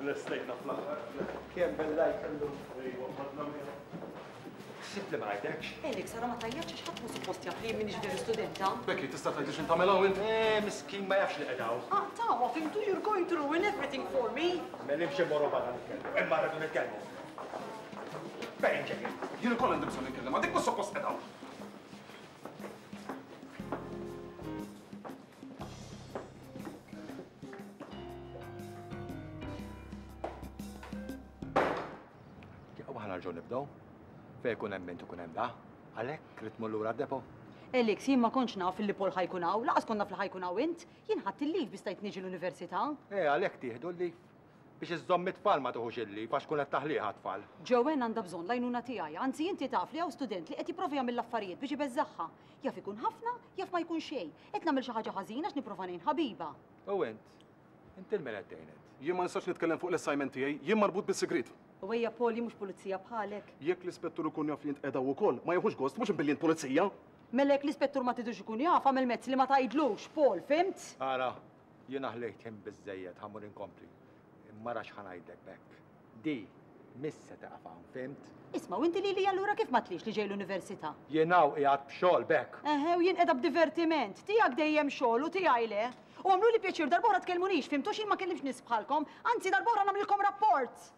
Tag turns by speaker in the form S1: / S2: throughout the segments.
S1: Lestejna fl-aħħar.
S2: Kemm bellajt illum.
S1: Ejwa, ħadna miegħu.
S2: Ħsibt li ma rajtekx.
S3: Alex, ara ma tgħajjatx għax ħadd mhu suppost jaf li jien m'iniex veru studenta.
S1: Becky, tista' tgħidli x'int tagħmel hawn int?
S2: Eh, miskin ma jafx li qed hawn.
S3: Aqtgħuha, fhimtu? You're going to ruin everything for me.
S2: Mela imxi mmorru barra nitkellmu. Imma rridu nitkellmu. Fejn ġejjin?
S1: Jien ukoll għandi bżonn nitkellem, dik mhux suppost qed hawn.
S2: U aħna nerġgħu nibdew. Fejn ikun hemm int ikun hemm da. Għalhekk trid tmur lura d-depo.
S3: Alex, jien ma kontx naf illi Paul ħa jkun hawn, laqas kont naf li ħa jkun hawn int. Jien ħadt il-leave biex stajt niġi l-università.
S2: Eh, għalhekk tieħdu l-leave. Biex iżżomm it-tfal ma tuħux il-leave għax tkun qed taħlih għat-tfal.
S3: Joanne għandha bżonn l-għajnuna tiegħi, anzi inti taf li hawn student li qed jipprova jagħmel l-affarijiet biex ibeżżagħha. Jaf ikun ħafna, jaf ma jkun xejn. Qed nagħmel xi ħaġa ħażina għax nipprova ngħin ħabiba.
S2: U int? Int 'il min qed tgħin int?
S1: Jien ma nistax nitkellem fuq l-assignment tiegħi, jien marbut bis-sigriet.
S3: U ejja Paul, jien mhux pulizija bħalek.
S1: Jekk l-ispettur ikun jaf li int qiegħda ukoll, ma jieħux gost, mhux imbilli int pulizija.
S3: Mela jekk l-ispettur ma tridux ikun jaf, agħmel mezz li ma tgħidlux, Paul, fhimt?
S2: Ara, jiena ħlejt ħin biżżejjed, ħa mmur inkompli. Imma ara x'ħa ngħidlek Beck. Di mhix se tieqaf hawn, fhimt?
S3: Isma', u inti lili allura kif m'għedtlix li ġej l-università?
S2: Jien hawn qiegħed b'xogħol, Beck.
S3: Eħe, u jien qiegħda b'divertiment. Tiegħek dejjem xogħol u tiegħi le. U agħmluli pjaċir darb'oħra tkellmunix, fhimtu? Għax jien ma nkellimx nies bħalkom. Anzi, darb'oħra nagħmlilkom rapport!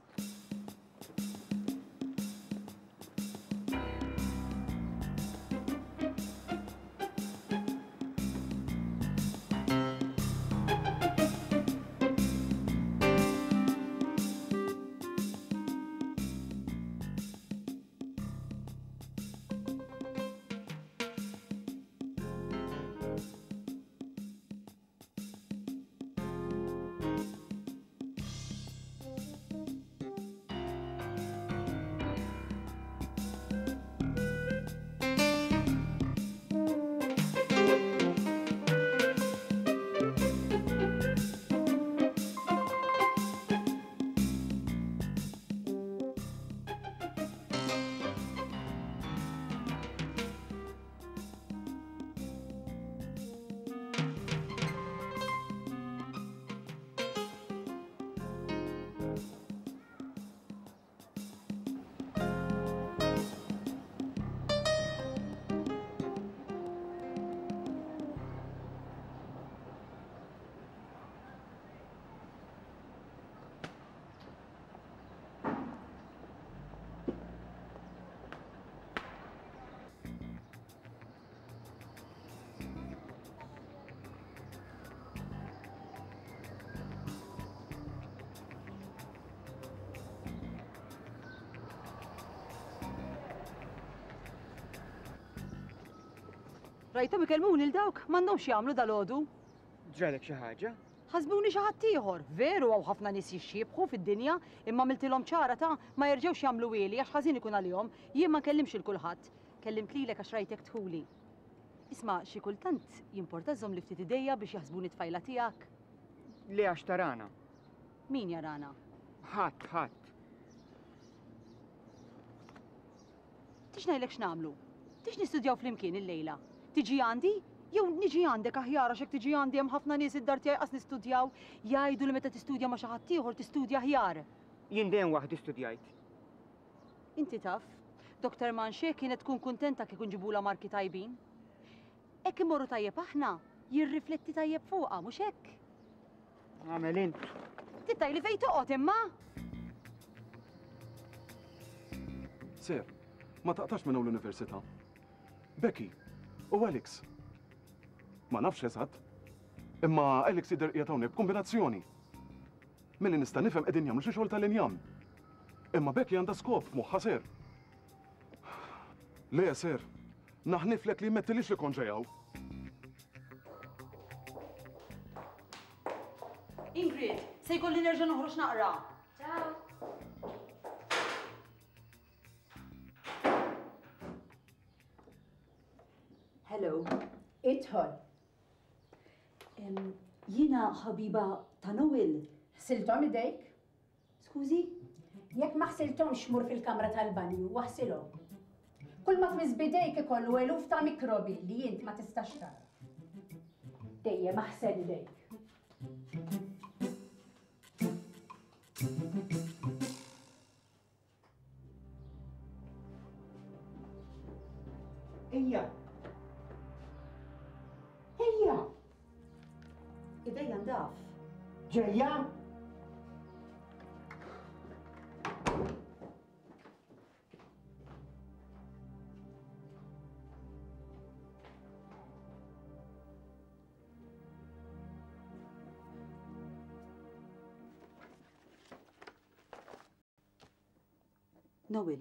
S3: Rajthom ikellmuni 'l dawk, m'għandhomx x'jagħmlu dalgħodu.
S4: Ġralek xi ħaġa?
S3: Ħasbuni xi ħadd ieħor. Veru hawn ħafna nies jixxiebħu fid-dinja, imma għamiltilhom ċara ta' ma jerġgħux jagħmluhieli għax ħażin ikun għalihom. Jien ma nkellimx 'il kulħadd. Kellimt lilek għax rajtek dħuli. Isma', xi kultant jimporta żżommli ftit idejja biex jaħsbuni tfajla tiegħek?
S4: Le għax tarana.
S3: Min jarana?
S4: Ħadd, ħadd.
S3: Tix ngħidlek x'nagħmlu? Tix nistudjaw flimkien illejla? Tiġi għandi? Jew niġi għandek aħjar għax jekk tiġi għandi hemm ħafna nies id-dar tiegħi qas nistudjaw. Jgħidu li meta tistudja ma' xi ħadd ieħor tistudja aħjar.
S4: Jien dejjem waħdi studjajt.
S3: Inti taf, Doctor Manché kienet tkun kuntenta kieku nġibulha marki tajbin. Hekk immorru tajjeb aħna, jirrifletti tajjeb fuqha, mhux hekk?
S4: Agħmel int.
S3: Trid tgħidli fejn toqgħod imma?
S1: Sir, ma taqtax minn hawn l-università. Becky, u Alex. Ma nafx eżatt. Imma Alex jidher qiegħed hawnhekk b'kombinazzjoni. Milli nista' nifhem qegħdin jagħmlu xi xogħol tal-injam. Imma Becky għandha skop f'moħħha, sir. Le, sir. Naħniflek li jmettilix li kont ġej hawn.
S3: Ingrid, se jkolli nerġa' noħroġ naqra.
S5: Ciao.
S3: Hello.
S6: Idħol.
S3: Jiena ħabiba ta' Noel.
S6: Ħsilthom idejk?
S3: Skużi?
S6: Jekk ma ħsilthomx mur fil-kamra tal-banju u aħsilhom. Kull ma tmiss b'idejk ikollu eluf ta' mikrobi li int ma tistax tara. Dejjem aħsel idejk.
S3: taf.
S4: Ġejja?
S3: Noel,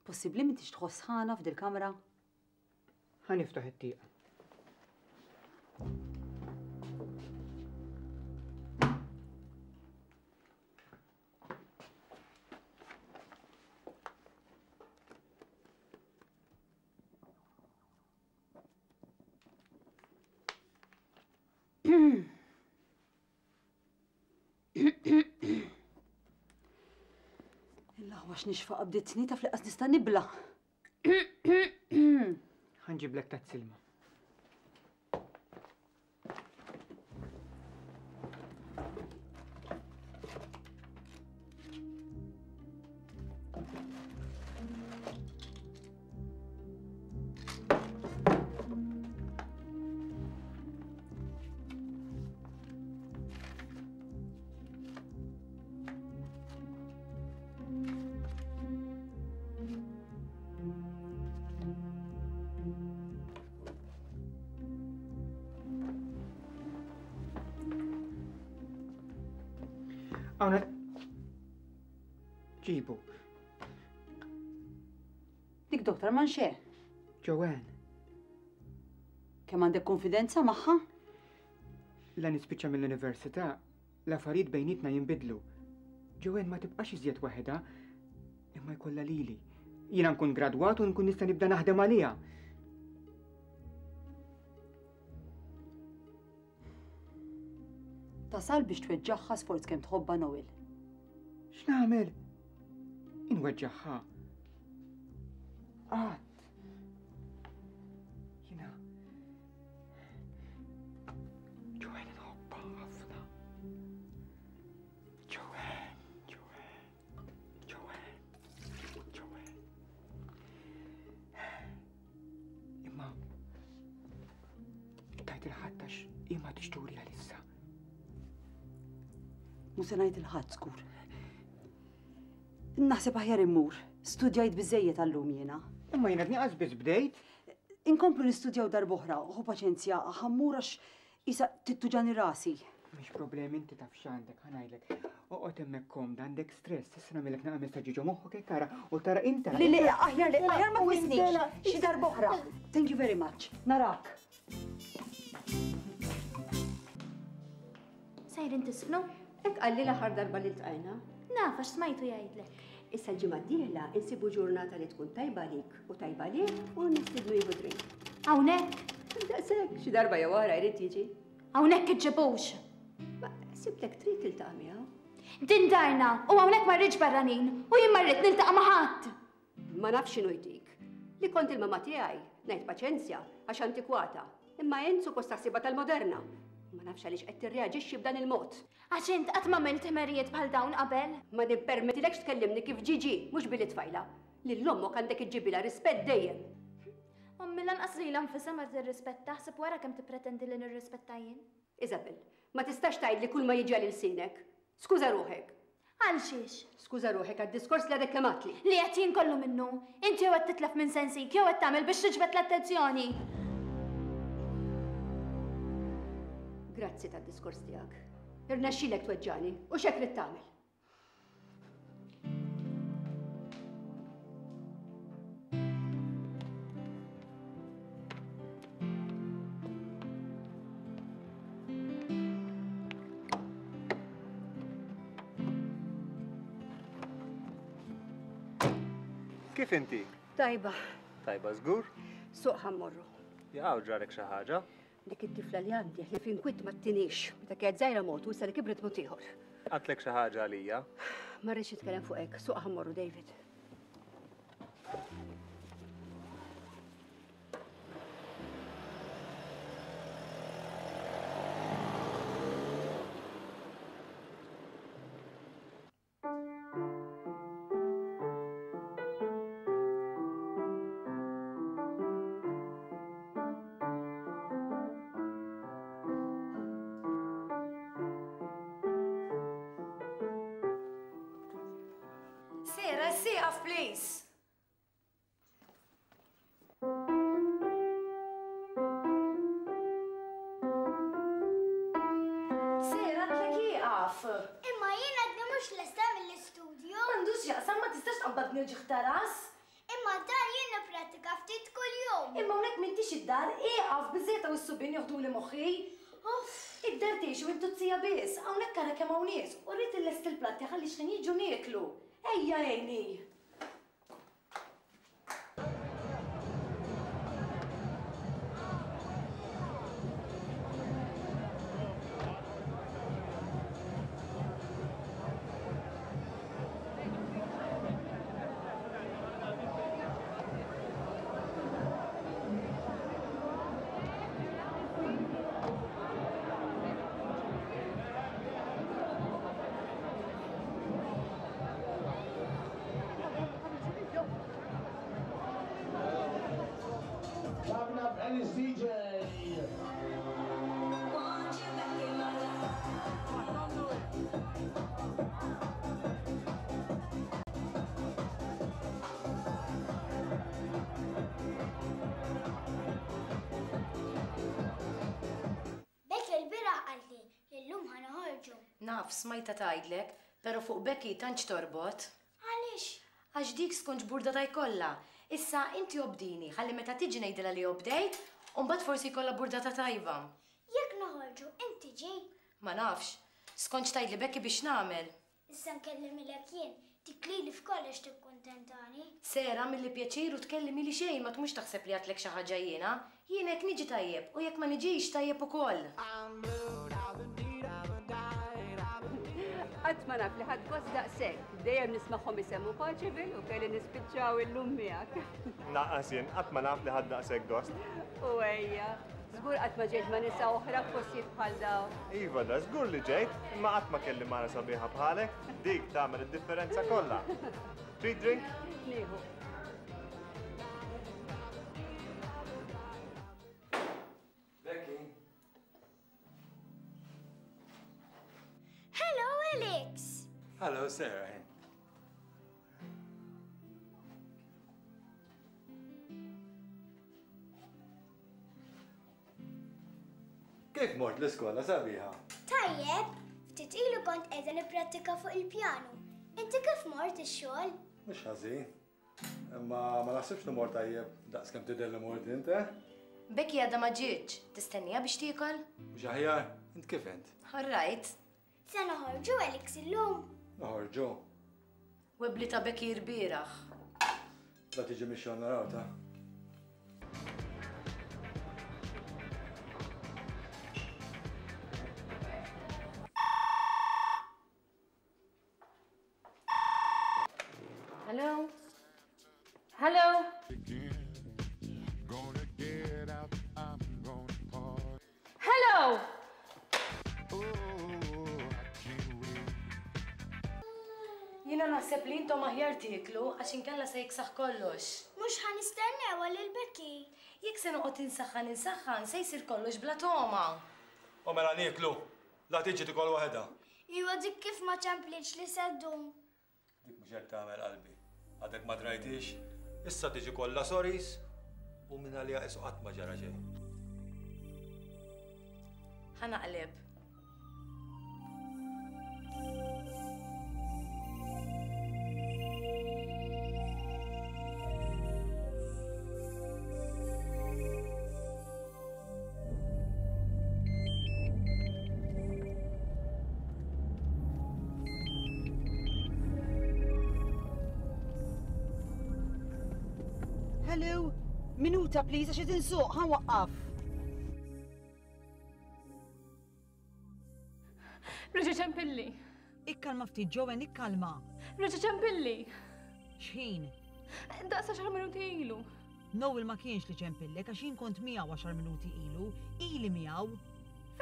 S3: possibbli m'intix tħoss sħana f'dil-kamra?
S4: Ħa niftaħ it-tieqa.
S3: Il-aħwa x'nixfa qabditni taf li qas nista' nibla.
S4: Ħanġiblek ta' silma. Hawn ġibu.
S3: Dik Doktor Manxe.
S4: Joanne.
S3: Kemm għandek konfidenza magħha?
S4: La nispiċċa mill-università, l-affarijiet bejnietna jinbidlu. Joanne ma tibqax iżjed waħedha, imma jkollha lili. Jiena nkun gradwat u nkun nista' nibda naħdem għaliha.
S3: Tasal biex tweġġagħha sforz kemm tħobbha Noel.
S4: X'nagħmel? Inweġġagħha. Qatt. Jiena Joanne nħobbha ħafna. Joanne, Joanne, Joanne, Joanne. Imma tajt il-ħadd għax hi ma tixturi għalissa.
S3: Mhu se ngħid il-ħadd żgur. Naħseb aħjar immur. Studjajt biżejjed għallum jiena.
S4: Imma jiena dniqas biss bdejt.
S3: Inkomplu nistudjaw darb'oħra, ħu paċenzja, ħammur għax isa tittuġani rasi.
S4: Mhix problemi inti taf x'għandek, ħa ngħidlek. Oqgħod hemmhekk komda, għandek stress, issa nagħmilek naqa' messaġġi ġo moħħok hekk ara u tara inta.
S3: Le, le, aħjar le, aħjar ma tmissnix. Xi darb'oħra. Thank you very much. Narak.
S5: Sejrin tisfnu?
S7: Hekk qalli l-aħħar darba li ltqajna.
S5: Naf għax smajtu jgħidlek.
S7: Issa l-ġimgħa d-dieħla insibu ġurnata li tkun tajba għalik u tajba għalih u nistidnu jieħu drink.
S5: Hawnhekk?
S7: Daqshekk, xi darba jew oħra jrid jiġi.
S5: Hawnhekk iġġibux.
S7: Ma sibtek trid tiltaqa' miegħu.
S5: Din darna u hawnhekk ma rridx barranin u jien ma rrid niltaqa' ma' ħadd.
S7: Ma nafx x'inhu jtik. Li kont il-mamà tiegħi, ngħid paċenzja għax antikwata, imma int suppost taħsibha tal-moderna. Ma nafx għaliex qed tirreaġixxi b'dan il-mod.
S5: Għax int qatt m'għamilt ħmerijiet bħal dawn qabel.
S7: Ma nippermettilekx tkellimni kif ġie ġie, mhux billi tfajla. Lil ommok għandek iġġibilha rispett dejjem.
S5: Ommi lanqas lilha nfisha ma tirrispetta, ħseb wara kemm tippretendi li nirrispetta jien.
S7: Isabel, ma tistax tgħidli kull ma jiġi għal ilsienek. Skuża ruħek.
S5: Għal xiex?
S7: Skuża ruħek għad-diskors li għadek kemm għadtli.
S5: Li għedt jien kollu minnu. Int jew qed titlef minn sensik jew qed tagħmel biex tiġbed l-attenzjoni.
S7: Grazzi tad-diskors tiegħek. Irnexxielek tweġġagħni u x'hekk ridt tagħmel.
S8: Kif inti?
S7: Tajba.
S8: Tajba żgur?
S7: Suq ħammorru.
S8: Jaqaw ġarek xi ħaġa?
S7: Dik it-tifla li għandi li fin kwitt ma tinix. Meta kienet żgħira mod u issa li kibret mod ieħor.
S8: Għatlek xi ħaġa għalija?
S7: Ma rridx nitkellem fuq hekk. Suq ħammorru David.
S9: Sera, sieqaf please. Sera, għedtlek ieqaf.
S5: Imma jien għadni mhux lesta mill-istudju.
S9: M'għandux x'jaqsam, ma tistax tqabbadni uġigħ ta' ras.
S5: Imma d-dar jien nipprattika ftit kuljum.
S9: Imma hawnhekk m'intix id-dar, ieqaf, biżżejjed hawn is-subien joħduli moħħi. Uff, id-dar tgħixu int u z-zija biss, hawnhekk ara kemm hawn nies u rrid illesti l-platti ħalli x'ħin jiġu nieklu. Ejja għinni!
S5: Becky l-bieraħ qaltli li llum ħa noħorġu.
S9: Naf, smajtha tgħidlek, però fuq Becky tantx torbot.
S5: Għaliex?
S9: Għax dik skont x'burdata jkollha. Issa inti obdini ħalli meta tiġi ngħidilha li obdejt u mbagħad forsi jkollha burdata tajba.
S5: Jekk noħorġu int tiġi?
S9: Ma nafx. Skont x'tgħidli Becky biex nagħmel.
S5: Issa nkellimilek jien, dik lili f'kollox tikkuntentani.
S9: Sarah, Milli pjaċir u tkellimili xejn ma tmurx taħseb li għedtlek xi ħaġa jiena. Jien hekk niġi tajjeb u jekk ma niġix tajjeb ukoll.
S7: Qatt ma naf li ħadt gost daqshekk. Dejjem nismagħhom isemmu Paceville u kelli nispiċċaw illum miegħek.
S8: Lanqas jien qatt ma naf li ħadt daqshekk gost.
S7: U ejja, żgur qatt ma ġejt ma' nisa oħra f'postijiet bħal dawn.
S8: Iva da żgur li ġejt, imma qatt ma kelli mara sabiħa bħalek. Dik tagħmel id-differenza kollha. Trid drink?
S7: Nieħu.
S2: Becky.
S5: Hello, Alex.
S2: Hello, Sarah. Kif mort l-iskola sabiħa?
S5: Tajjeb, ftit ilu kont qiegħda nipprattika fuq il-pjanu. Inti kif mort ix-xogħol?
S2: Mhux ħażin. Imma ma naħsibx li mort tajjeb daqs kemm tidher li mort int, eh?
S9: Becky għadha ma ġietx. Tistenniha biex tiekol?
S2: Mhux aħjar? Int kif int?
S9: All right.
S5: Se noħorġu Alex illum?
S2: Noħorġu.
S9: Webbli ta' Becky rbieraħ.
S2: La tiġi mix-xogħol naraw ta'.
S9: Hello? Hello? Hello? Jiena naħseb li intom aħjar tieklu għax inkella se jiksaħ kollox.
S5: Mhux ħa nistennew għal il-Becky.
S9: Jekk se noqgħod insaħħan insaħħan se jsir kollox bla togħma.
S2: U mela nieklu, la tiġi tikol waħedha.
S5: Iwa dik kif ma ċemplitx li se ddum.
S2: Dik mhux hekk tagħmel qalbi. Għadek ma drajtix? Issa tiġi kollha sorries u minn għaliha qisu qatt ma ġara xejn.
S9: Ħa naqleb.
S3: Hello, minuta please għax qed insuq, ħa nwaqqaf.
S10: Reġa' ċempilli.
S3: Ikkalma ftit Joanne, ikkalma.
S10: Reġa' ċempilli.
S3: X'ħin?
S10: Daqs għaxar minuti ilu.
S3: Noel ma kienx li ċempillek għax jien kont miegħu għaxar minuti ilu, ili miegħu.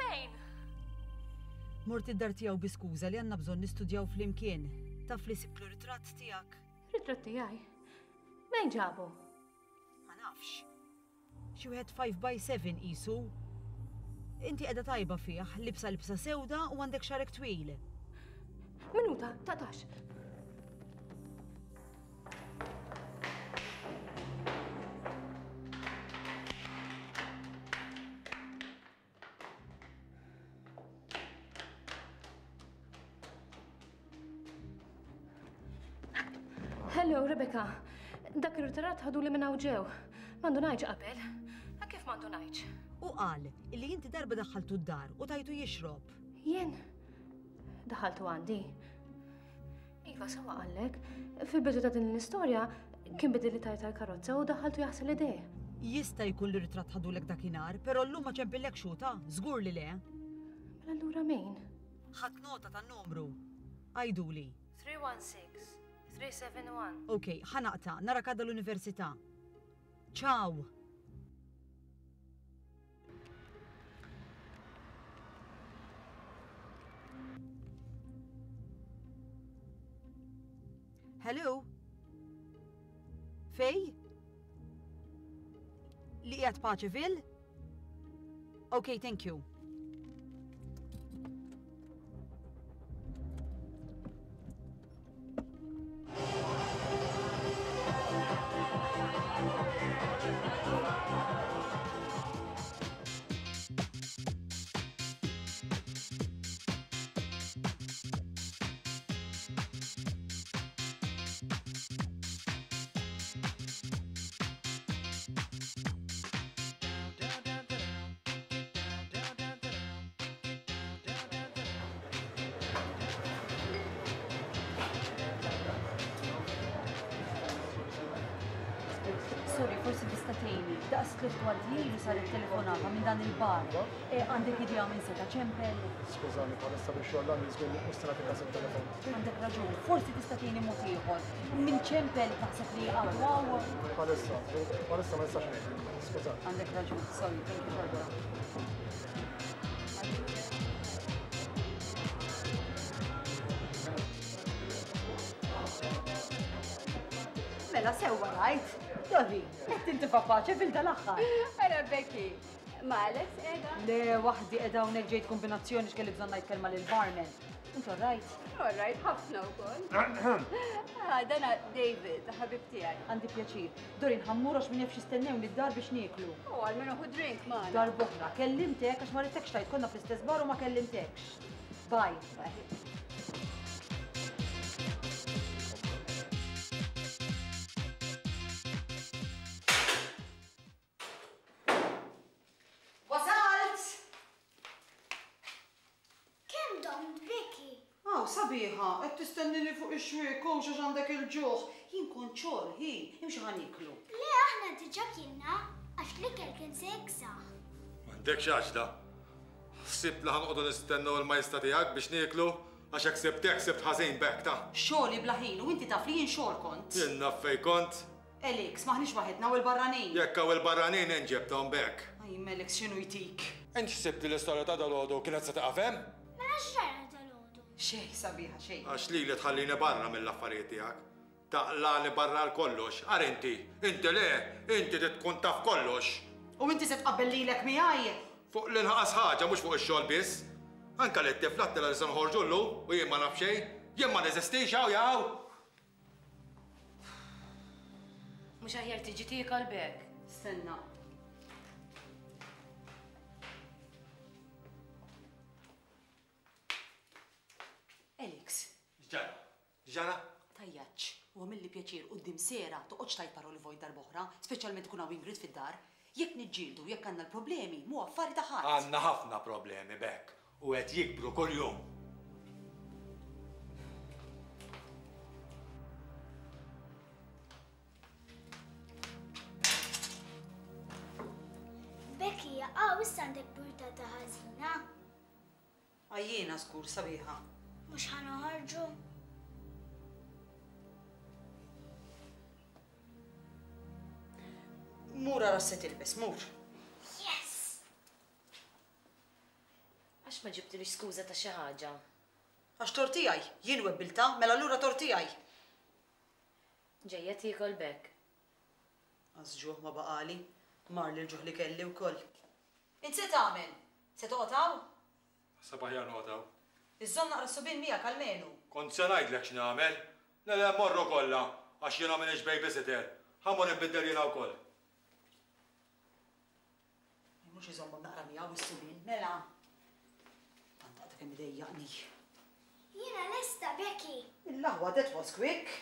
S10: Fejn?
S3: Mort id-dar tiegħu bi skuża li għandna bżonn nistudjaw flimkien. Taf li sibtlu ritratt tiegħek?
S10: Ritratt tiegħi? Mejn ġabu?
S3: Ma nafx. Xi wieħed 5 by 7 qisu. Inti qiegħda tajba fih, libsa libsa sewda u għandek xagħrek twil.
S10: Minuta, taqtax. Hello, Rebecca. Dak ir-ritratt ħaduli minn hawn ġew. Ma ndunajtx qabel. Kif ma ndunajtx?
S3: Hu qal illi inti darba daħħaltu d-dar u tajtu jixrob.
S10: Jien? Daħħaltu għandi. Iva, sewwa qallek. Fil-bidu ta' din l-istorja kien bidilli tajt tal-karozza u daħħaltu jaħsel idejh.
S3: Jista' jkun li ritratt ħadulek dakinhar, però llum ma ċempillekx hu ta', żgur li le.
S10: Mela allura min?
S3: Ħadt nota tan-numru. Għiduli.
S10: 316 371.
S3: Ok, ħa naqta', narak għada l-università. Ciao! Hello? Fej? Li qiegħed Paċeville? Okay, thank you. Sorry, forsi tista' tgħinni. Daqs tliet kwarti ilu saret telefonata minn dan il-bar. E, għandek idea minn seta' ċempel?
S11: Skużani, bħalissa biex xogħol għandi żgur li mhux se nagħti każ it-telefon.
S3: Għandek raġun, forsi tista' tgħinni mod ieħor. Min ċempel taħseb li għadu hawn?
S11: Bħalissa, bħalissa ma nistax ngħidlek. Skużani.
S3: Għandek raġun, sorry, thank you xorta. Mela sewwa rajt. Dori, qed tintifa' paċe fil dal-aħħar.
S7: Ara Becky, ma Alex qiegħda?
S3: Le, waħdi qiegħda hawnhekk ġejt kombinazzjoni x'kelli bżonn ngħid kelma lil barman. Int all right?
S7: All right, ħafna wkoll. Ah, dana David, ħabib tiegħi.
S3: Għandi pjaċir. Dorin ħammur għax min jaf x'jistennewni d-dar biex nieklu.
S7: U għalmenu ħu drink magħna.
S3: Darb'oħra, kellimtek għax ma ridtekx tgħid konna fl-istess bar u ma kellimtekx. Bye.
S7: Bye.
S3: Wasalt!
S5: Kemm domt Becky?
S3: Aw, sabiħa, qed tistennini fuq ix-xwiek hux għax għandek il-ġuħ. Jien kont xogħol, hi, imxi ħa nieklu.
S5: Le aħna diġà kilna għax l-ikel kien se jiksaħ.
S12: M'għandekx għaġla. Ħsibt li ħa noqogħdu nistennew il-majesta tiegħek biex nieklu? Għax hekk sibt hekk sibt ħażin b'hekk ta.
S3: Xogħli bla ħin u inti taf li jien xogħol kont.
S12: Jien naf fejn kont.
S3: Alex, m'aħniex waħedna hawn il-barranin.
S12: Jekk hawn il-barranin int ġibthom b'hekk.
S3: Ajma Alex x'inhu jtik?
S12: Int ħsibt li l-istorja ta' dalgħodu kienet se tieqaf hemm?
S5: Mela x'ġara dalgħodu?
S3: Xejn sabiħa xejn.
S12: Għax lili tħallini barra mill-affarijiet tiegħek. Taqlagħni barra għal kollox. Ara inti, inti le, inti trid tkun taf kollox.
S3: U inti se tqabbel lilek miegħi?
S12: Fuq l-inqas ħaġa, mhux fuq ix-xogħol biss. Anke lit-tifla għedtilha li se noħorġu llum u jien ma naf xejn. Jien ma neżistix hawn jew?
S9: Mhux aħjar tiġi tiekol b'hekk?
S3: Stenna. Alex.
S12: X'ġara? X'ġara?
S3: Tgħajjatx u agħmilli pjaċir quddiem Sarah toqgħodx tgħid paroli vojt darb'oħra, speċjalment ikun hawn Ingrid fid-dar. Jekk niġġieldu u jekk għandna l-problemi, mhu affari ta' ħadd.
S12: Għandna ħafna problemi b'hekk u qed jikbru kuljum.
S5: Becky, jaqaw issa għandek burtata ħażina.
S3: Għajjiena żgur, sabiħa.
S5: Mhux ħa noħorġu?
S3: Mur ara x'se tilbes, mur.
S5: Yes!
S9: Għax ma ġibtilix skuża ta' xi ħaġa?
S3: Għax tort tiegħi, jien webbiltha, mela allura tort tiegħi.
S9: Ġejja tiekol b'hekk.
S3: Qas ġuħ ma baqagħli, marli l-ġuħ li kelli wkoll. Int se tagħmel? Se toqgħod hawn?
S12: Naħseb aħjar noqgħod hawn.
S3: Iżżomm naqra s-subien miegħek almenu.
S12: Kont se ngħidlek x'nagħmel. Le le morru kollha, għax jiena m'iniex babysitter. Ħa mmur inbiddel jiena wkoll.
S3: Mhux iżommhom naqra miegħu is-subien, mela. Tant għadha kemm idejjaqni.
S5: Jiena lesta, Becky.
S3: L-aħwa, that was quick.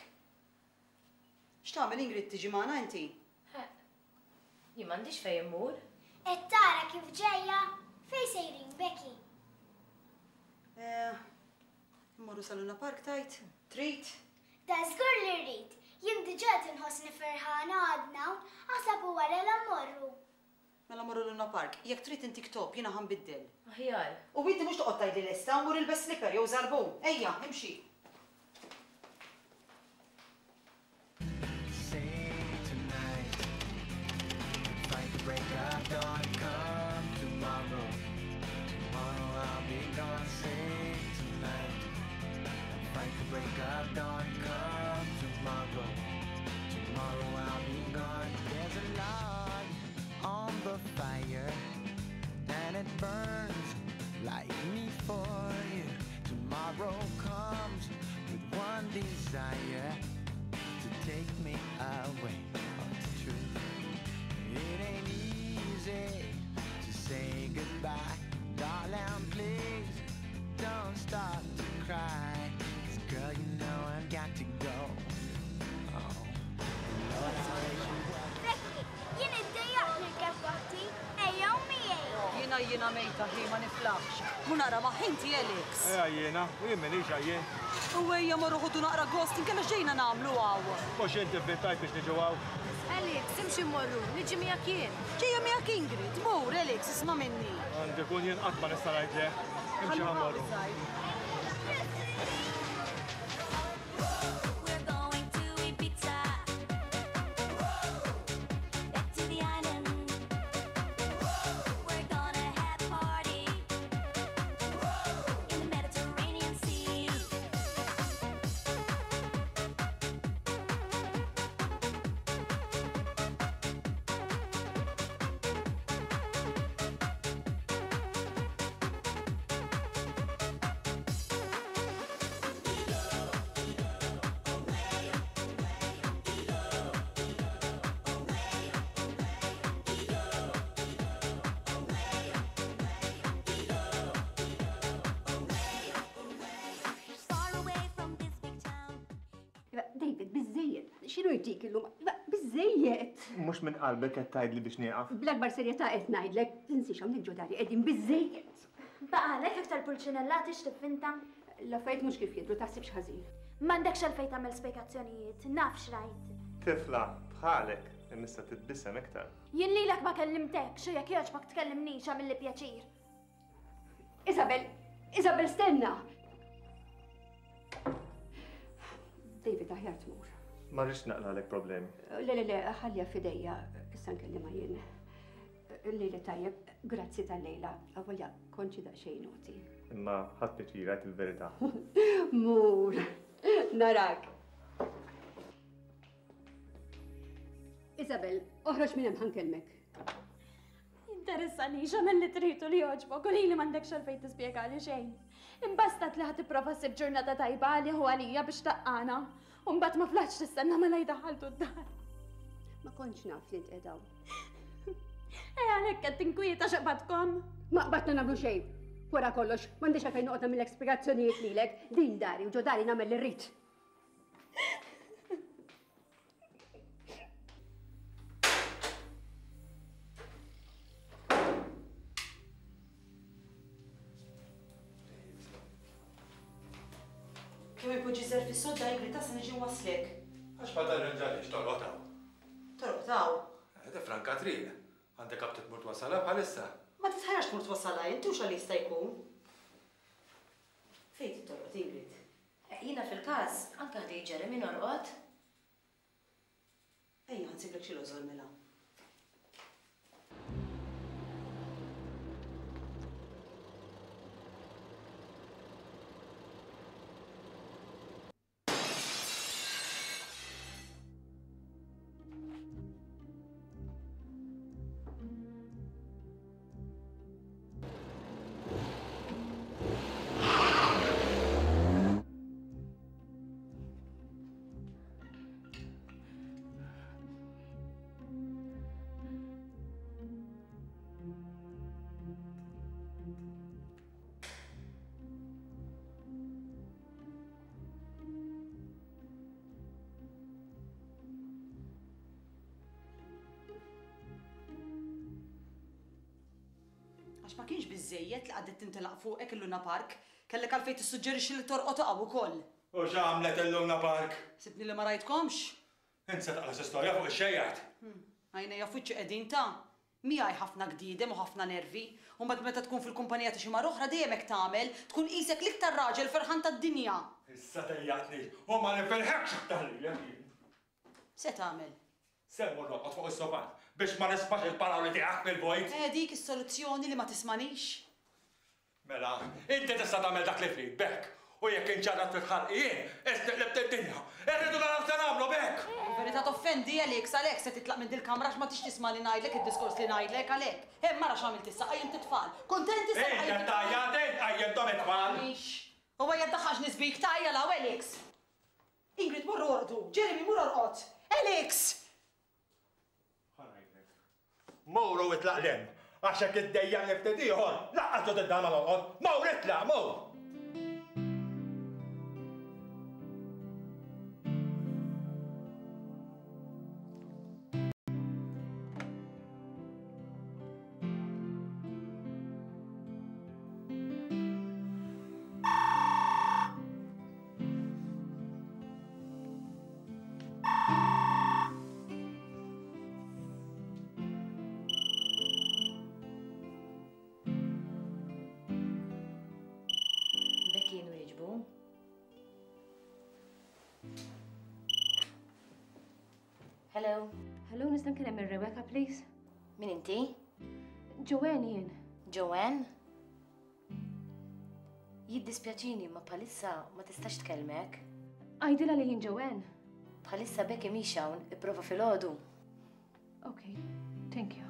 S3: X'tagħmel Ingrid tiġi magħna inti?
S10: Ħeqq. Jien m'għandix fejn immur.
S5: Qed tara kif ġejja? Fejn sejrin Becky?
S3: Eh, immorru sa Luna Park tgħid? Trid?
S5: Da żgur li rrid. Jien diġà qed inħossni ferħana għadna hawn, aħseb u wara la mmorru.
S3: Mela mmorru Luna Park. Jekk trid intik top, jiena ħa nbiddel.
S10: Aħjar.
S3: U inti mhux toqgħod tgħidli lesta, mur ilbes slipper jew żarbun. Ejja, imxi.
S13: Burns like me for you. Tomorrow comes with one desire to take me away. Oh, it's true. It ain't easy to say goodbye, darling. Please don't start to cry. 'Cause girl, you know I've got to go. Oh, Lord, I wish you well.
S5: Becky, jien iddejjaqt nirkeb waħdi, ejjew miegħi.
S3: Jiena jiena mejta ħi ma niflaħx. Mu nara ma' ħinti Alex.
S8: Ejja jiena, u jien m'iniex għajjien.
S3: U ejja morru ħudu naqra gost inkella x'ġejna nagħmlu hawn.
S8: Mhux inti vvintajt biex niġu hawn.
S10: Alex, imxi mmorru, niġi miegħek jien.
S3: Ġejja miegħek Ingrid, mur Alex, isma' minni.
S8: Għandi kun jien qatt ma nista' ngħid le. Imxi ħa mmorru.
S7: David, biżżejjed. X'inhu jtik illum? Iva, biżżejjed.
S8: Mhux minn qalbek qed tgħidli biex nieqaf.
S7: Bl-akbar serjetà qed ngħidlek, tinsiex hawnhekk ġo dari qegħdin biżżejjed.
S10: Baqalek aktar pulċinellati x'tiffinta?
S7: L-affarijiet mhux kif jidhru, taħsibx ħażin.
S10: M'għandekx għalfejn tagħmel spjegazzjonijiet, naf x'rajt.
S8: Tifla bħalek imissa titbissem iktar.
S10: Jien lilek ma kellimtekx u jekk jogħġbok tkellimnix għamilli pjaċir.
S7: Isabel, Isabel stenna! David, aħjar tmur.
S8: Ma rridx naqlalek problemi.
S7: Le, le, le, ħallija f'idejja, issa nkellimha jien. Lejla tajjeb, grazzi tal-lejla, avolja konċi daqsxejn noti.
S8: Imma ħadd pjaċir għajt il-verità.
S7: Mur, narak. Isabel, oħroġ minn hemm ħankellmek.
S10: Jinteressani x'għamel li trid u li jogħġbok u lili m'għandekx għalfejn tispjegali xejn. Imbastat li ħa tipprova ssib ġurnata tajba għalih u għalija biex taqqana. U mbagħad ma flaħtx tistenna mela jdaħħaltu d-dar.
S7: Ma kontx naf li int qiegħda hawn.
S10: Eh għalhekk qed tinkwieta x'qbadkom.
S7: Ma qbadna nagħmlu xejn. Wara kollox, m'għandix għalfejn noqgħod nagħmillek spjegazzjonijiet lilek. Din dari u ġo dari nagħmel li rrid.
S3: Kemm ipoġġi żer fis-sodda Ingrid ta' se niġi nwaslek.
S12: Għax ma tarranġalix torqod hawn.
S3: Torqod hawn?
S12: Eh, tifranka triq. Għandek aptit tmur twassalha bħalissa.
S3: Ma titħajjarx tmur twassalha int hux għal jista' jkun. Fejn trid torqod Ingrid?
S9: Jiena fil-każ, anke ħdej Jeremy norqod.
S3: Ejja, ħa nsiblek xi lożor mela. Għax ma kienx biżżejjed li qagħdet tintelaq fuqek il-Luna Park, kellek għalfejn tissuġġerixxi li torqod hawn ukoll.
S12: U x'għamlet il-Luna Park?
S3: Ħsibtni li ma rajtkomx?
S12: Int se taqla' xi storja fuq ix-xejjat?
S3: Għajnejja f'wiċċi qegħdin ta'. Miegħi ħafna gdiedem u ħafna nervi. U mbagħad meta tkun fil-kumpanija ta' xi mara oħra dejjem hekk tagħmel, tkun qisek l-iktar raġel ferħan tad-dinja.
S12: Issa dejjaqtni u ma nifilħekx aktar lilek jien.
S3: X'se tagħmel?
S12: Se mmur norqod fuq is-sofà biex ma nismax il-paroli tiegħek mill-vojt.
S3: Eh dik is-soluzzjoni li ma tismanix?
S12: Mela, inti tista' tagħmel dak li trid, b'hekk. U jekk inċarrat ftit ħalqi jien, qisni qlibt id-dinja. Irridu naraw x'se nagħmlu, b'hekk!
S3: Il-verità toffendi, Alex, għalhekk se titlaq minn dil-kamra għax ma tridx tisma' li ngħidlek id-diskors li ngħidlek, għalhekk. Hemm ara x'għamilt issa, qajjimt it-tfal. Kuntent issa li
S12: Int
S3: qajjimt
S12: qed
S3: it-tfal?
S12: tgħajjat, int qajjimthom it-tfal!
S3: Mhix. U ejja ddaħħaxni sbik, tgħajja 'l hawn, Alex! Ingrid, morru orqdu! Jeremy, mur orqod! Alex!
S12: Ħa ngħidlek. Mur u itlaq 'l hemm, għax jekk iddejjaqni ftit ieħor, lanqas ġo d-dar ma norqod. Mur itlaq, mur!
S9: Becky nwieġbu. Hello.
S14: Hello, nista' nkellem ir-Rebecca, please?
S9: Min inti?
S14: Joanne jien.
S9: Joanne? Jiddispjaċini imma bħalissa ma tistax tkellmek.
S14: Għidilha li jien Joanne.
S9: Bħalissa Becky mhix hawn, ipprova filgħodu.
S14: Okay, thank you.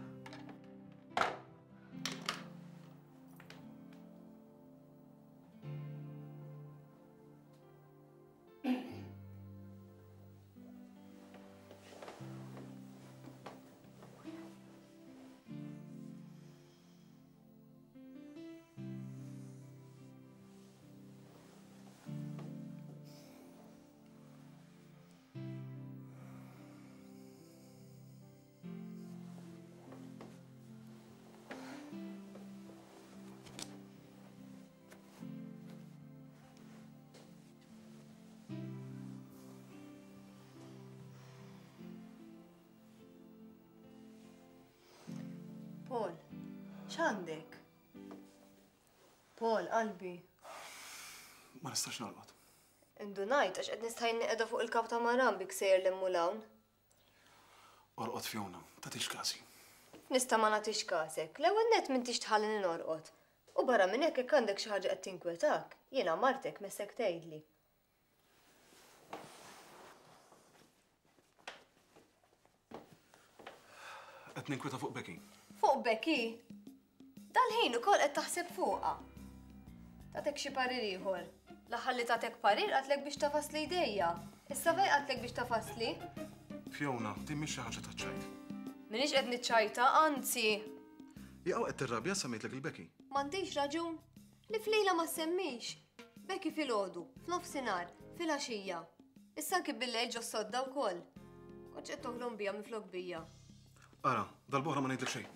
S15: Paul, x'għandek? Paul, qalbi.
S1: Ma nistax norqod.
S15: Indunajt għax qed nistħajn qiegħda fuq il-kap ta' Maran bik sejjer l-hemm hawn.
S1: Orqod Fiona, tagħtix kasi.
S15: Nista' ma nagħtix kasek. L-ewwel nett m'intix tħallini norqod. U barra minn hekk jekk għandek xi ħaġa qed tinkwetak, jiena martek messek tgħidli.
S1: Qed ninkweta fuq Becky.
S15: Fuq Becky? Dal-ħin ukoll qed taħseb fuqha. Tatek xi parir ieħor. L-aħħar li tatek parir qatlek biex tafasli jdejja. Issa fejn qatlek biex tafasli?
S1: Fiona, din mhix xi ħaġa taċ-ċajt.
S15: M'iniex qed niċċajta, anzi.
S1: Jaqaw qed tirrabja semmejtlek il-Becky.
S15: M'għandix raġun. Li f'lejla ma ssemmix. Becky filgħodu, f'nofsinhar, filgħaxija. Issa anki bil-lejl ġos-sodda wkoll. Kontx qed toħlom bija minflok bija.
S1: Ara, darb'oħra ma ngħidlek xejn.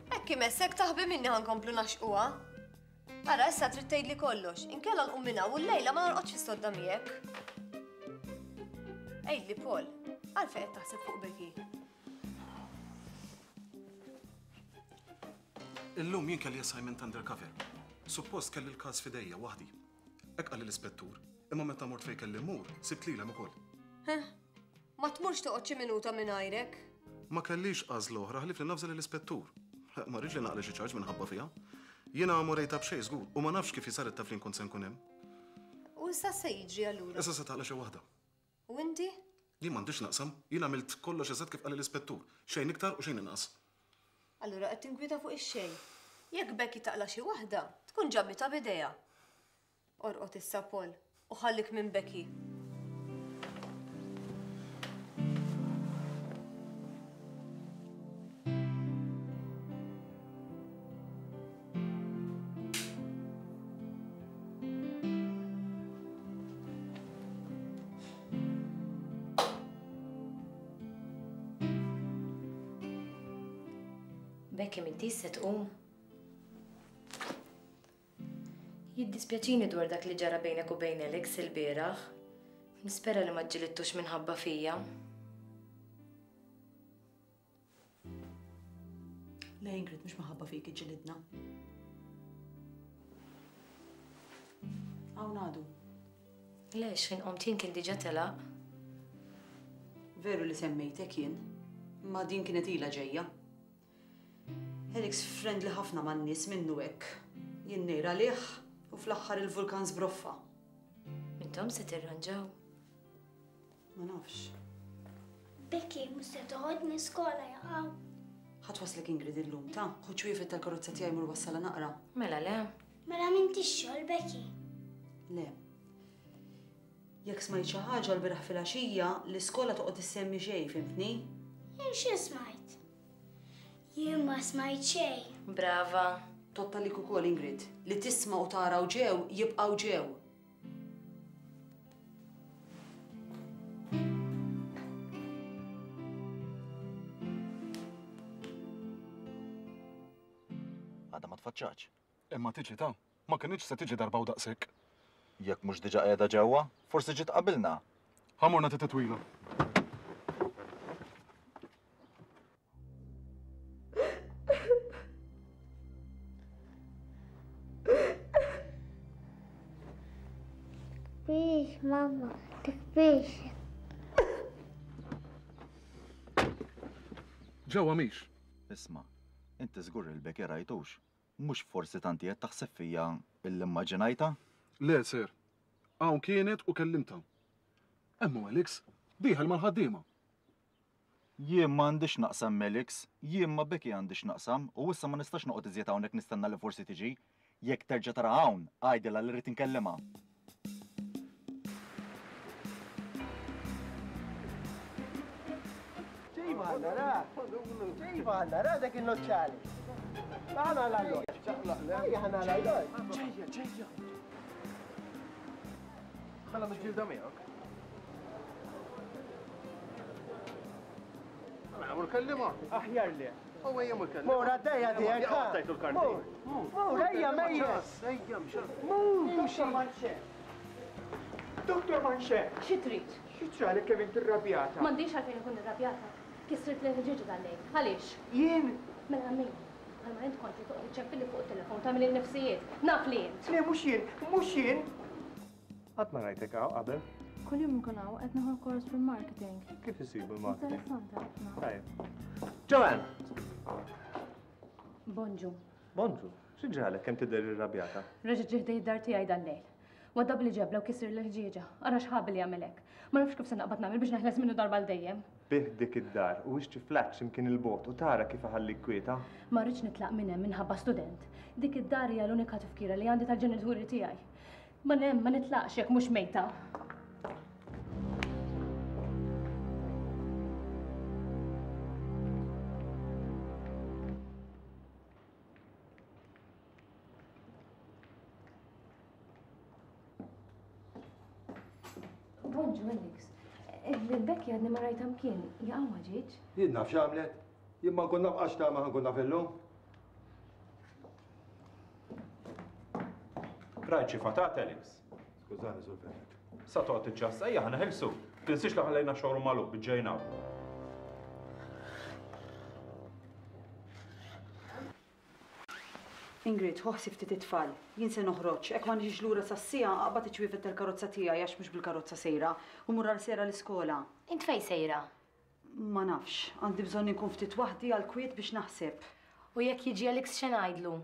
S15: Hekk imessek taħbi minni ħa nkomplu naxquha. Ara issa trid tgħidli kollox, inkella nqum minn hawn u llejla ma norqodx fis-sodda miegħek. Għidli Paul, għalfejn qed taħseb fuq Becky?
S1: Illum jien kelli assignment undercover. Suppost kelli l-każ f'idejja waħdi. Hekk qalli l-ispettur. Imma meta mort fejn kelli mmur, sibt lilhem ukoll.
S15: Heh, ma tmurx toqgħod xi minuta mingħajrek.
S1: Ma kellix għażla oħra ħlief li navża lill-ispettur. Ma rridx li naqla' xi charge minħabba fiha. Jiena ma urejtha b'xejn żgur u ma nafx kif hi saret taf li nkun se nkun hemm.
S15: U issa x'se jiġri allura?
S1: Issa se taqla' xi waħda.
S15: U inti?
S1: Jien m'għandix x'naqsam. Jien għamilt kollox eżatt kif qalli l-ispettur. Xejn iktar u xejn inqas.
S15: Allura qed tinkwieta fuq ix-xejn. Jekk Becky taqla' xi waħda, tkun ġabitha b'idejha. Orqod issa Paul, u ħallik minn Becky.
S9: Becky m'intix se tqum?
S15: Jiddispjaċini dwar dak li ġara bejnek u bejn Alex ilbieraħ. Nispera li ma ġġilidtux minħabba fija.
S3: Le Ingrid, mhux minħabba fik iġġilidna. Hawn għadu.
S15: Le, x'ħin qomt jien kien diġà telaq.
S3: Veru li semmejtek jien, imma din kienet ilha ġejja. Alex friendly ħafna man-nies minnu hekk. Jien ngħir għalih u fl-aħħar il-vulkan żbroffa.
S15: Intom se tirranġaw?
S3: Ma nafx.
S5: Becky, mhux se toħodni skola jaqaw.
S3: Ħa twasslek Ingrid illum, ta? Ħu ċwievet tal-karozza tiegħi mur wassalha naqra.
S15: Mela le.
S5: Mela m'intix xogħol, Becky?
S3: Le. Jekk smajt xi ħaġa lbieraħ filgħaxija, l-iskola toqgħod issemmi xejn, fhimtni?
S5: Jien xi smajt? Jien ma smajt xejn.
S15: Brava.
S3: Tgħodd għalik ukoll, Ingrid. Li tisma' u tara u ġew jibqgħu ġew.
S16: Għadha ma tfaċċatx.
S1: Imma tiġi ta'. Ma kinitx se tiġi darba u daqshekk.
S16: Jekk mhux diġà qiegħda ġewwa, forsi ġiet qabilna.
S1: Ħa mmur nagħti titwila.
S5: Tikbix, mamma, tikbix.
S1: Ġewwa mhix.
S16: Isma', inti żgur il-Becky rajtux. Mhux forsi tant qiegħed taħseb fija illi mmaġinajtha?
S1: Le, sir. Hawn kienet u kellimtha. Hemm hu Alex, dieħel mal-ħaddiema.
S16: Jien ma għandi x'naqsam m'Alex, jien ma' Becky għandi x'naqsam u issa ma nistax noqgħod iżjed hawnhekk nistenna li forsi tiġi. Jekk terġa' taraha hawn, għidilha li rrid inkellimha.
S17: Ġejba għandna ra, ġejba għandna ra dak il-noċċali. Għana l-alloġ. Ejja ħana l-alloġ.
S11: Ġejja, ġejja. Mela miġġielda miegħek. Mela mur kellima.
S17: Aħjar le.
S11: U ejja mur kellima.
S17: Mur għaddejja tiegħek.
S11: Tajtu l-karti.
S17: Mur, ejja mejja.
S11: Ejja, mxa.
S17: Mur, Dr. Manxe. Dr. Manxe.
S14: Xi trid?
S4: Xi ġralek kemm int irrabjata?
S14: M'għandix għalfejn inkun irrabjata. Kissirtli l-ħġieġa tal-lejl. Għaliex?
S4: Jien?
S14: Mela min? Bħalma int kont li toqgħod iċċempilli fuq it-telefon tagħmilli l-nifsijiet. Naf li int.
S4: Le mhux jien, mhux jien!
S8: Qatt ma rajtek hawn qabel.
S10: Kuljum inkun hawn qed nieħu kors fil-marketing.
S8: Kif isibu l-marketing?
S10: Interessanti ħafna.
S8: Tajjeb. Joanne!
S14: Bonġu.
S8: Bonġu. Xi ġralek kemm tidher irrabjata?
S14: Reġa' ġie ħdej id-dar tiegħi dal-lejl. Waddabli ġebla u kissirli l-ħġieġa. Ara x'ħabi li jagħmel hekk. Ma nafx kif se naqbad nagħmel biex neħles minnu darba għal dejjem.
S8: Bigħ dik id-dar u ixtri flat xi mkien 'il bogħod u tara kif iħallik kwieta.
S14: Ma rridx nitlaq minn hemm minħabba student. Dik id-dar hija l-unika tifkira li għandi tal-ġenituri tiegħi. Ma hemm ma nitlaqx jekk mhux mejta. Bonġu, Alex. Il-Becky għadni ma rajta mkien, jaqaw ma ġietx?
S12: Jien naf x'għamlet. Jien ma nkun naf għax ta' ma nkun naf illum.
S8: Rajt xi fatat, Alex.
S12: Skużani, Sur Fenech.
S8: Sa toqgħod tiċċassa, ejja ħa neħilsu. Tinsiex li ħallejna showroom magħluq biex ġejna hawn.
S3: Ingrid, ħu ħsieb ftit it-tfal. Jien se noħroġ. Hekk ma niġix lura sas-siegħa, aqbad iċ-ċwievet tal-karozza tiegħi għax mhux bil-karozza sejra, u mur għal Sera l-iskola.
S15: Int fejn sejra?
S3: Ma nafx. Għandi bżonn inkun ftit waħdi għall-kwiet biex naħseb.
S15: U jekk jiġi Alex x'se ngħidlu?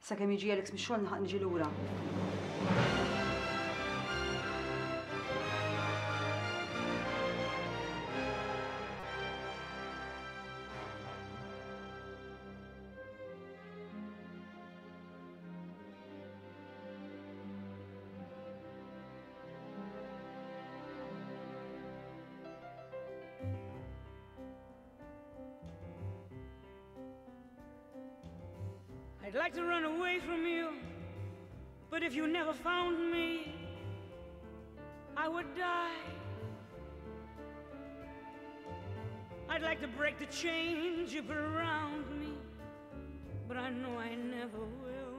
S3: Sakemm jiġi Alex mix-xogħol nilħaq niġi lura.
S18: I'd like to run away from you, but if you never found me, I would die. I'd like to break the chains you put around me, but I know I never will.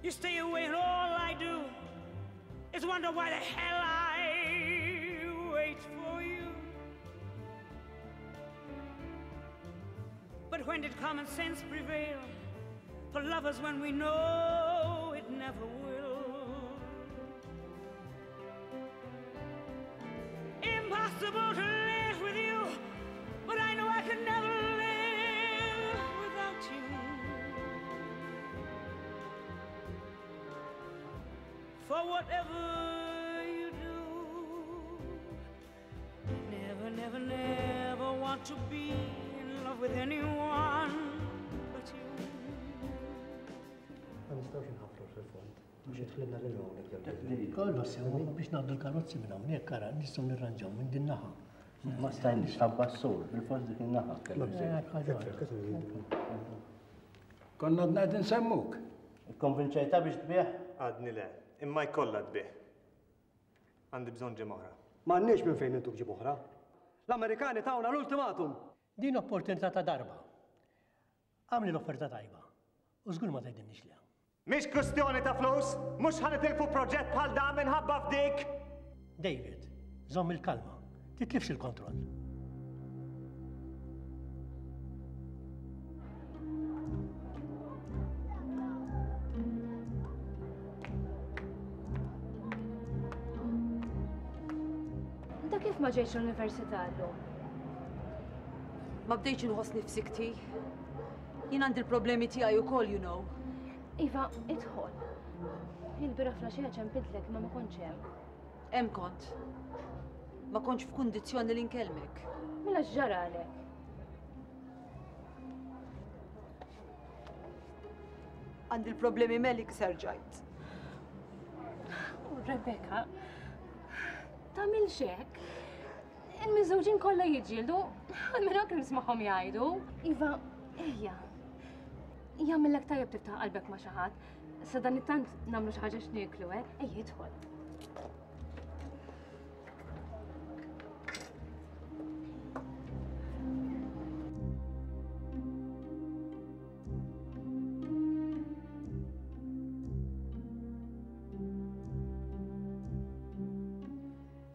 S18: You stay away, and all I do is wonder why the hell I wait for you. But when did common sense prevail for lovers when we know it never will? Impossible to live with you, but I know I could never live without you. For whatever you do, never, never, never want to be in love with anyone but you.
S17: Ma nistgħux inħaffru fil-fond. Mhux jidħlilna lil hawnhekk. Kollu sew biex ngħaddu l-karozzi minn hawnhekk ara nistgħu nirranġaw minn din naħa.
S19: Ma stajniex ħabba s-sur, bil-fors dik in-naħa.
S20: Konna għadna qed insemmuk.
S19: Ikkonvinċejtha biex tbigħ?
S8: Għadni le, imma jkollha tbigħ. Għandi bżonn ġimgħa oħra.
S17: M'għandniex minn fejn intuk ġimgħa oħra. L-Amerikani tawna l-ultimatum!
S21: Din opportunità ta' darba. Agħmli l-offerta tajba u żgur ma tgħidilniex le.
S8: Mhix kwistjoni ta' flus, mhux ħa nitilfu proġett bħal dan minħabba f'dik!
S21: David, żomm il-kalma, titlifx il-kontroll.
S14: Ta' kif ma ġejtx l-università llum?
S3: Ma bdejtx inħossni f'sikti. Jien għandi l-problemi tiegħi wkoll, you know.
S14: Iva, idħol. Il-bira flaxija ċempiltlek imma ma kontx hemm.
S3: Hemm kont. Ma kontx f'kundizzjoni li nkellmek.
S14: Mela x'ġaralek?
S3: Għandi l-problemi melik serġajt.
S14: Oh, Rebecca, tagħmilx hekk. Il-miżżewġin kollha jiġġieldu, għalmenu hekk nismagħhom jgħidu. Iva, ejja. Jagħmillek tajjeb tiftaħ qalbek ma' xi ħadd. Sa dan it-tant nagħmlu xi ħaġa x'nieklu, eh? Ejja idħol.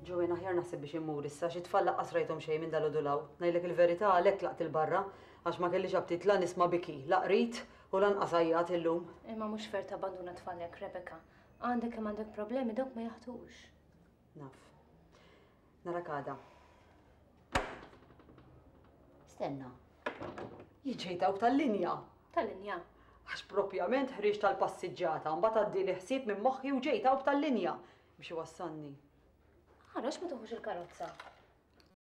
S3: Joanne, aħjar naħseb biex immur issa, xi tfal laqqas rajthom xejn minn dalgħodu 'l hawn. Ngħidlek il-verità għalhekk tlaqt 'il barra, għax ma kellix aptit la nisma' biki, la qrid u lanqas għajjat illum.
S14: Imma mhux fair tabbanduna tfal hekk, Rebecca. Għandek kemm għandek problemi dawk ma jaħtux.
S3: Naf. Narak għada. Stenna. Jien ġejt hawn tal-linja.
S14: Tal-linja?
S3: Għax propjament ħriġt tal-passiġġata, mbagħad għaddieli ħsieb minn moħħi u ġejt hawn tal-linja biex iwassalni.
S14: Ara, għax ma tuħux il-karozza?